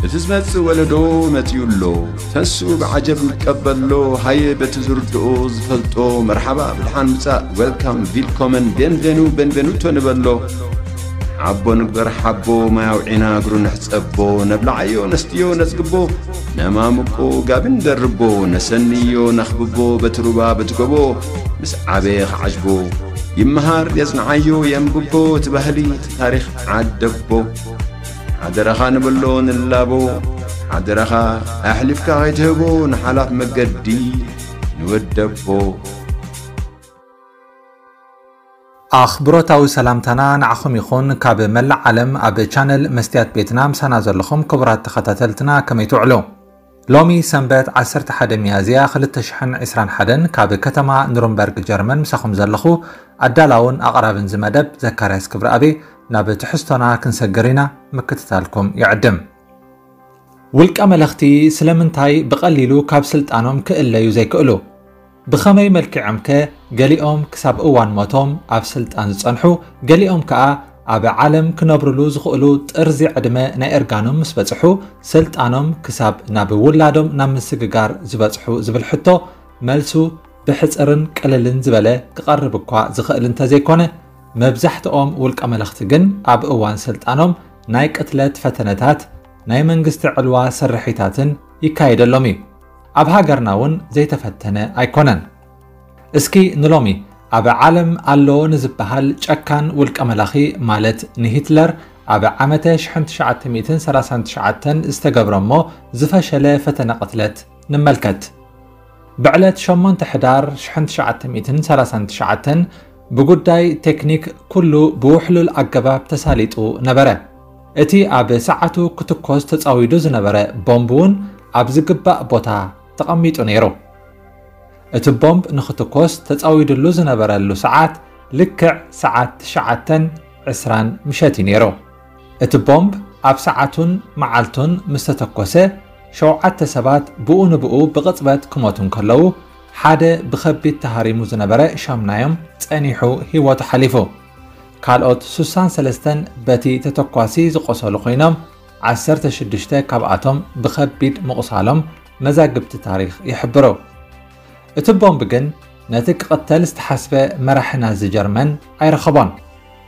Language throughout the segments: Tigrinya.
እቲ ዝመጽእ ወለዶ መጺኡ ኣሎ። ተንስኡ ብዓጀብ ንቀበሎ። ሃየ በቲ ዝርድኦ ዝፈልጦ መርሓባ ብድሓን ምጻእ፣ ዌልካም፣ ቪልኮመን፣ ቤንቬኑ፣ ቤንቬኑቶ ንበሎ። ሓቦ ንግበር ሓቦ፣ ማይ ኣውዒና እግሩ ንሕጸቦ። ነብልዓዮ ነስትዮ ነጽግቦ፣ ነማምቆ ጋቢ ንደርቦ። ነሰንዮ ነኽብቦ በቲ ሩባ በቲ ጎቦ። ምስ ዓበየ ክዓጅቦ ይመሃር የጽንዓዮ የንብቦ። እቲ ባህሊ እቲ ታሪኽ ዓደቦ። ሓደራኻ ንብሎ ንላቦ። ሓደራኻ ኣሕሊፍካ ከይትህቦ ንሓላፍ መገዲ ንወደቦ። ኣኽብሮታዊ ሰላምታና ንዓኹም ይኹን። ካብ መላእ ዓለም ኣብ ቻነል መስትያት ቤትና ምሳና ዘለኹም ክቡራት ተኸታተልትና ከመይ ትውዕሉ? ሎሚ ሰንበት ዓሰርተ ሓደ ሚያዝያ ክልተ ሽሕን ዕስራን ሓደን ካብ ከተማ ኑርንበርግ ጀርመን ምሳኹም ዘለኹ ኣዳላውን ኣቕራብን እዚ መደብ ዘካርያስ ክብረኣብ። ናብ ትሕዝቶና ክንሰግር ኢና፣ ምክትታልኩም ይዕድም። ውልቀ መለኽቲ ስለምንታይ ብቐሊሉ ካብ ስልጣኖም ክእለዩ ዘይክእሉ? ብኸመይ መልኪዖምከ ገሊኦም ክሳብ እዋን ሞቶም ኣብ ስልጣን ዝጸንሑ፣ ገሊኦም ከኣ ኣብ ዓለም ክነብርሉ ዝኽእሉ ጥርዚ ዕድመ ናይ እርጋኖም ምስ በጽሑ፣ ስልጣኖም ክሳብ ናብ ውላዶም ናብ ምስግጋር ዝበጽሑ ዝብል ሕቶ መልሱ ብሕጽርን ቅልልን ዝበለ ክቐርብ እኳ ዝኽእል እንተዘይኮነ፣ መብዛሕትኦም ውልቀ መለኽቲ ግን ኣብ እዋን ስልጣኖም ናይ ቅትለት ፈተነታት፣ ናይ መንግስቲ ዕልዋ ስርሒታትን ይካየደሎም እዩ። ኣብ ሃገርና እውን ዘይተፈተነ ኣይኮነን። እስኪ ንሎሚ ኣብ ዓለም ኣሎ ንዝበሃል ጨካን ውልቀ መላኺ ማለት ንሂትለር ኣብ ዓመተ ሽሕን ትሽዓተ ሚእትን ሰላሳን ትሽዓተን ዝተገብረ እሞ ዝፈሸለ ፈተነ ቅትለት ንመልከት። ብዕለት ሸሞንተ ሕዳር ሽሕን ትሽዓተ ሚእትን ሰላሳን ትሽዓተን ብጉዳይ ቴክኒክ ኩሉ ብውሕሉል ኣገባብ ተሳሊጡ ነበረ። እቲ ኣብ ሰዓቱ ክትኮስ ተጻዊዱ ዝነበረ ቦምብ እውን ኣብ ዝግባእ ቦታ ተቐሚጡ ነይሩ። እቲ ቦምብ ንኽትኮስ ተጻዊድሉ ዝነበረሉ ሰዓት ልክዕ ሰዓት ትሽዓተን ዕስራን ምሸት እዩ ነይሩ። እቲ ቦምብ ኣብ ሰዓቱን መዓልቱን ምስ ተተኮሰ፣ ሸውዓተ ሰባት ብኡ ንብኡ ብቕጽበት ክሞቱ እንከለዉ፣ ሓደ ብኸቢድ ተሃሪሙ ዝነበረ ሻምናዮም ጸኒሑ ህይወቱ ሓሊፉ። ካልኦት ሱሳን ሰለስተን በቲ ተተኳሲ ዝቖሰሉ ኮይኖም፣ ዓሰርተ ሽዱሽተ ካብኣቶም ብኸቢድ ምቑሳሎም መዛግብቲ ታሪኽ ይሕብሩ። እቲ ቦምብ ግን ነቲ ክቕተል ዝተሓስበ መራሒ ናዚ ጀርመን ኣይረኸቦን።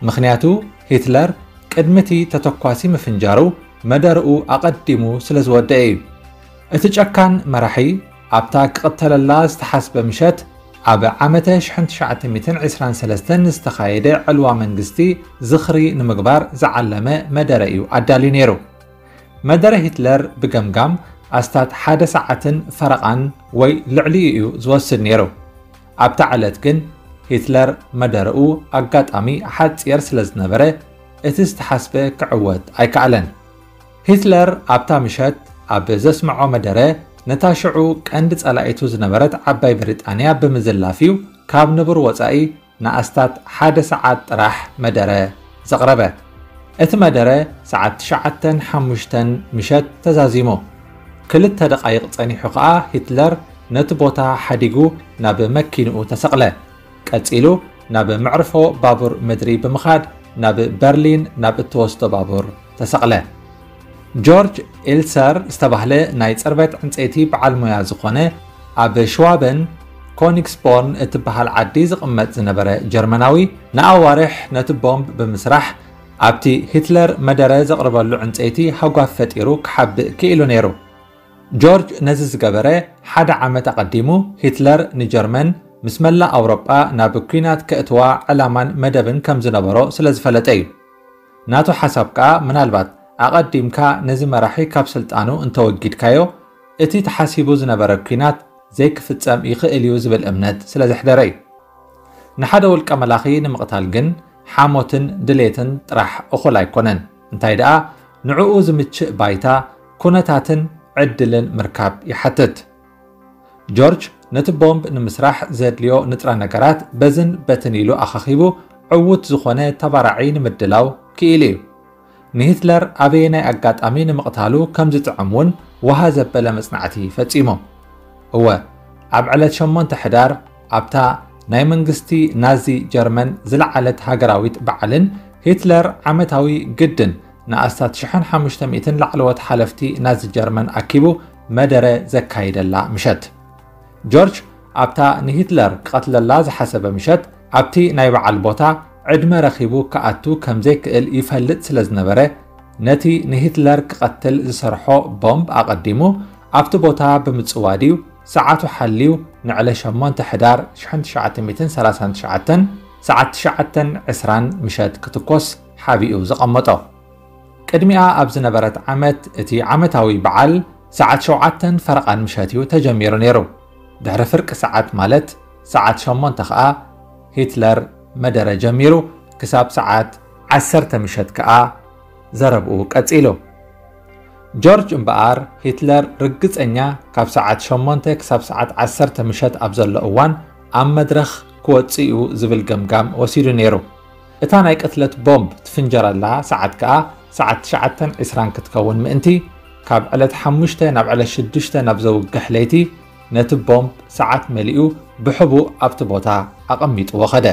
ምኽንያቱ ሂትለር ቅድሚ እቲ ተተኳሲ ምፍንጃሩ መደርኡ ኣቐዲሙ ስለ ዝወደአ እዩ። እቲ ጨካን መራሒ ኣብታ ክቕተለላ ዝተሓስበ ምሸት ኣብ ዓመተ ሽሕን ትሽዓተ ሚእትን ዕስራን ሰለስተን ዝተኻየደ ዕልዋ መንግስቲ ዝኽሪ ንምግባር ዝዓለመ መደረ እዩ ኣዳልዩ ነይሩ። መደረ ሂትለር ብገምጋም ኣስታት ሓደ ሰዓትን ፈረቓን ወይ ልዕሊኡ እዩ ዝወስድ ነይሩ። ኣብታ ዕለት ግን ሂትለር መደረኡ ኣጋጣሚ ሓጺር ስለ ዝነበረ፣ እቲ ዝተሓስበ ክዕወት ኣይከኣለን። ሂትለር ኣብታ ምሸት ኣብ ዘስምዖ መደረ፣ ነታ ሽዑ ቀንዲ ጸላኢቱ ዝነበረት ዓባይ ብሪጣንያ ብምዝላፍ እዩ ካብ ንቡር ወጻኢ ንኣስታት ሓደ ሰዓት ጥራሕ መደረ ዘቕረበ። እቲ መደረ ሰዓት ትሽዓተን ሓሙሽተን ምሸት ተዛዚሙ። ክልተ ደቓይቕ ጸኒሑ ኸኣ ሂትለር ነቲ ቦታ ሓዲጉ ናብ መኪንኡ ተሰቕለ። ቀጺሉ ናብ መዕርፎ ባቡር ምድሪ ብምኻድ ናብ በርሊን ናብ እትወስዶ ባቡር ተሰቕለ። ጆርጅ ኤልሰር ዝተባህለ ናይ ጽርበት ዕንጸይቲ በዓል ሞያ ዝኾነ፣ ኣብ ሽዋበን ኮኒግስቦርን እትበሃል ዓዲ ዝቕመጥ ዝነበረ ጀርመናዊ፣ ንኣዋርሕ ነቲ ቦምብ ብምስራሕ ኣብቲ ሂትለር መደረ ዘቕርበሉ ዕንጸይቲ ሃጓፍ ፈጢሩ ክሓብእ ክኢሉ ነይሩ። ጆርጅ ነዚ ዝገበረ ሓደ ዓመት ኣቐዲሙ፣ ሂትለር ንጀርመን ምስ መላእ ኣውሮጳ ናብ ኲናት ከእትዋ ዕላማን መደብን ከም ዝነበሮ ስለ ዝፈለጠ እዩ። ናቱ ሓሳብ ከኣ፣ ምናልባት ኣቐዲምካ ነዚ መራሒ ካብ ስልጣኑ እንተወጊድካዮ፣ እቲ ተሓሲቡ ዝነበረ ኲናት ዘይክፍጸም ይኽእል እዩ ዝብል እምነት ስለ ዘሕደረ እዩ። ንሓደ ውልቀ መላኺ ንምቕታል ግን ሓሞትን ድሌትን ጥራሕ እኹል ኣይኮነን። እንታይ ደኣ፣ ንዕኡ ዝምችእ ባይታ፣ ኩነታትን ዕድልን ምርካብ ይሓትት። ጆርጅ ነቲ ቦምብ ንምስራሕ ዘድልዮ ንጥረ ነገራት በዝን በትን ኢሉ ኣኻኺቡ፣ ዕዉት ዝኾነ ተባራዒ ንምድላው ክኢሉ እዩ። ንሂትለር ኣበየናይ ኣጋጣሚ ንምቕታሉ ከም ዝጥዕም እውን ወሃ ዘበለ መጽናዕቲ ፈጺሙ። እወ፣ ኣብ ዕለት ሸሞንተ ሕዳር ኣብታ ናይ መንግስቲ ናዚ ጀርመን ዝለዓለት ሃገራዊት በዓልን ሂትለር ዓመታዊ ግድን ንኣስታት ሽሕን ሓሙሽተ ሚእትን ላዕለዎት ሓለፍቲ ናዚ ጀርመን ኣኪቡ መደረ ዘካይደላ ምሸት። ጆርጅ ኣብታ ንሂትለር ክቐትለላ ዝሓሰበ ምሸት ኣብቲ ናይ በዓል ቦታ ዕድመ ረኺቡ ክኣቱ ከም ዘይክእል ይፈልጥ ስለ ዝነበረ፣ ነቲ ንሂትለር ክቐትል ዝሰርሖ ቦምብ ኣቐዲሙ ኣብቲ ቦታ ብምጽዋድ እዩ ሰዓቱ ሓልዩ ንዕለ ሸሞንተ ሕዳር ሽሕን ትሽዓተ ሚእትን ሰላሳን ትሽዓተን ሰዓት ትሽዓተን ዕስራን ምሸት ክትኮስ ሓቢኡ ዘቐመጦ። ቅድሚኣ ኣብ ዝነበረት ዓመት እቲ ዓመታዊ በዓል ሰዓት ሸውዓተን ፈረቓን ምሸት እዩ ተጀሚሩ ነይሩ። ድሕሪ ፍርቂ ሰዓት ማለት ሰዓት ሸሞንተ ከኣ ሂትለር መደረ ጀሚሩ ክሳብ ሰዓት ዓሰርተ ምሸት ከኣ ዘረብኡ ቀጺሉ። ጆርጅ እምበኣር ሂትለር ርግጸኛ ካብ ሰዓት ሸሞንተ ክሳብ ሰዓት ዓሰርተ ምሸት ኣብ ዘሎ እዋን ኣብ መድረኽ ክወጽእ እዩ ዝብል ገምጋም ወሲዱ ነይሩ። እታ ናይ ቅትለት ቦምብ ትፍንጀረላ ሰዓት ከኣ ሰዓት ትሽዓተን ዕስራን ክትከውን ምእንቲ ካብ ዕለት ሓሙሽተ ናብ ዕለት ሽዱሽተ ናብ ዘውግሕ ለይቲ ነቲ ቦምብ ሰዓት መሊኡ ብሕቡእ ኣብቲ ቦታ ኣቐሚጥዎ ኸደ።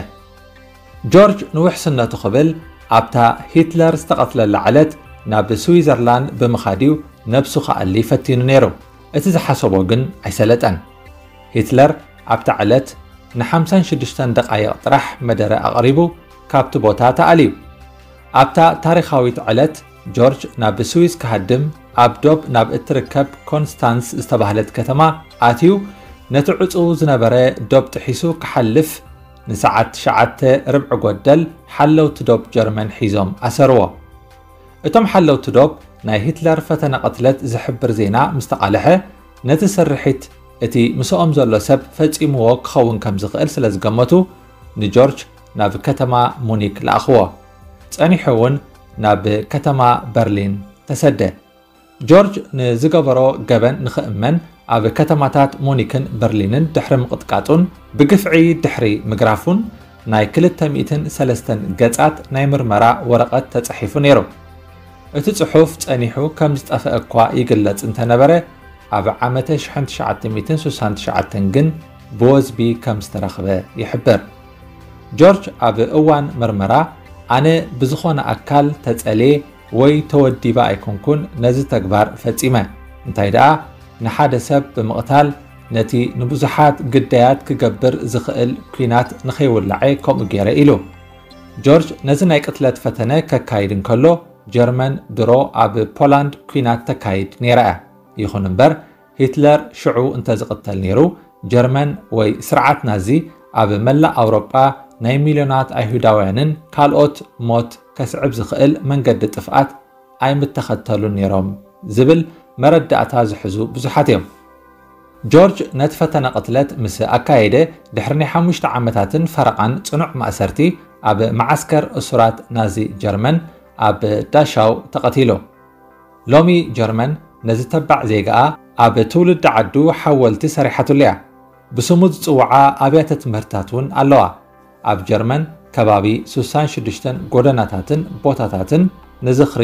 ጆርጅ ንውሕስነቱ ክብል ኣብታ ሂትለር ዝተቐትለላ ዕለት ናብ ስዊዘርላንድ ብምኻድ እዩ ነብሱ ክኣሊ ፈቲኑ ነይሩ። እቲ ዝሓሰቦ ግን ኣይሰለጠን። ሂትለር ኣብታ ዕለት ንሓምሳን ሽዱሽተን ደቓይቕ ጥራሕ መደረ ኣቕሪቡ ካብቲ ቦታ ተኣልዩ። ኣብታ ታሪኻዊት ዕለት ጆርጅ ናብ ስዊስ ክሃድም ኣብ ዶብ ናብ እትርከብ ኮንስታንስ ዝተባህለት ከተማ ኣትዩ ነቲ ዕጹው ዝነበረ ዶብ ጥሒሱ ክሓልፍ ንሰዓት ትሽዓተ ርብዒ ጎደል ሓለውቲ ዶብ ጀርመን ሒዞም ኣሰርዎ። እቶም ሓለውቲ ዶብ ናይ ሂትለር ፈተነ ቅትለት ዝሕብር ዜና ምስ ተቓልሐ፣ ነቲ ስርሒት እቲ ምስኦም ዘሎ ሰብ ፈጺምዎ ክኸውን ከም ዝኽእል ስለ ዝገመቱ፣ ንጆርጅ ናብ ከተማ ሙኒክ ለኣኽዎ። ጸኒሑ እውን ናብ ከተማ በርሊን ተሰደ። ጆርጅ ንዝገበሮ ገበን ንኽእመን ኣብ ከተማታት ሙኒክን በርሊንን ድሕሪ ምቕጥቃጡን ብግፍዒ ድሕሪ ምግራፉን ናይ ክልተ ሚእትን ሰለስተን ገጻት ናይ ምርመራ ወረቐት ተጻሒፉ ነይሩ። እቲ ጽሑፍ ጸኒሑ ከም ዝጠፍአ እኳ ይግለጽ እንተነበረ፣ ኣብ ዓመተ ሽሕን ትሽዓተ ሚእትን ስሳን ትሽዓተን ግን ብወዝቢ ከም ዝተረኽበ ይሕብር። ጆርጅ ኣብ እዋን መርመራ፣ ኣነ ብዝኾነ ኣካል ተጸልየ ወይ ተወዲበ ኣይኮንኩን ነዚ ተግባር ፈጺመ። እንታይ ደኣ፣ ንሓደ ሰብ ብምቕታል ነቲ ንብዙሓት ግዳያት ክገብር ዝኽእል ኲናት ንኸይውላዐ ከምኡ ገይረ ኢሉ። ጆርጅ ነዚ ናይ ቅትለት ፈተነ ከካይድ እንከሎ፣ ጀርመን ድሮ ኣብ ፖላንድ ኲናት ተካይድ ነይራ እያ። ይኹን እምበር፣ ሂትለር ሽዑ እንተዝቕተል ነይሩ፣ ጀርመን ወይ ስርዓት ናዚ ኣብ መላእ ኣውሮጳ ናይ ሚልዮናት ኣይሁዳውያንን ካልኦት ሞት ከስዕብ ዝኽእል መንገዲ ጥፍኣት ኣይምተኸተሉን ነይሮም ዝብል መረዳእታ ዝሕዙ ብዙሓት እዮም። ጆርጅ ነቲ ፈተነ ቅትለት ምስ ኣካየደ፣ ድሕሪ ናይ ሓሙሽተ ዓመታትን ፈረቓን ጽኑዕ ማእሰርቲ ኣብ መዓስከር እሱራት ናዚ ጀርመን ኣብ ዳሻው ተቐቲሉ። ሎሚ ጀርመን ነዚ ተባዕ ዜጋኣ ኣብ ትውልዲ ዓዱ ሓወልቲ ሰሪሓትሉ እያ። ብስሙ ዝጽውዓ ኣብያተ ትምህርትታት እውን ኣለዋ። ኣብ ጀርመን ከባቢ ስሳን ሽዱሽተን ጎደናታትን ቦታታትን ንዝኽሪ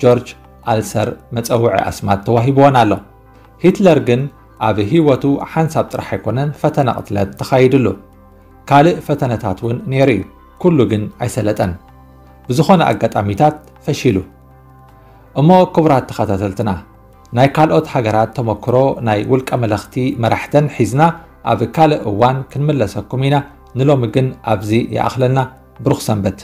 ጆርጅ ኣልሰር መጸውዒ ኣስማት ተዋሂብወን ኣሎ። ሂትለር ግን ኣብ ህይወቱ ሓንሳብ ጥራሕ ኣይኮነን ፈተነ ቅትለት ተኻይድሉ። ካልእ ፈተነታት እውን ነይሩ እዩ። ኩሉ ግን ኣይሰለጠን። ብዝኾነ ኣጋጣሚታት ፈሺሉ። እሞ ክቡራት ተኸታተልትና፣ ናይ ካልኦት ሃገራት ተመክሮ ናይ ውልቀ መለኽቲ መራሕተን ሒዝና ኣብ ካልእ እዋን ክንምለሰኩም ኢና። ንሎሚ ግን ኣብዚ ይኣኽለና። ብሩኽ ሰንበት።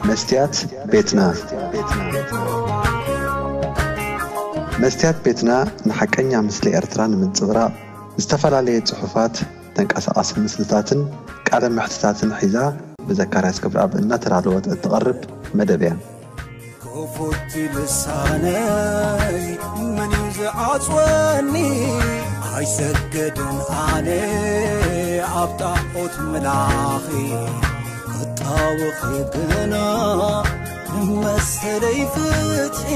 መስትያት ቤትና። መስትያት ቤትና ንሓቀኛ ምስሊ ኤርትራ ንምንጽብራቕ ዝተፈላለየ ጽሑፋት፣ ተንቀሳቓሲ ምስልታትን ቃለ መሕትታትን ሒዛ ብዘካርያስ ገብረኣብ እናተዳለወት እትቐርብ መደብ እያ። ክፉት ልሳነይ መን እዩ ዝዓጽወኒ? ኣይሰገድን ኣነ ኣብ ጣዖት ምላኺ፣ ክጣወኺ ግና ንመሰለይ ፍትሒ።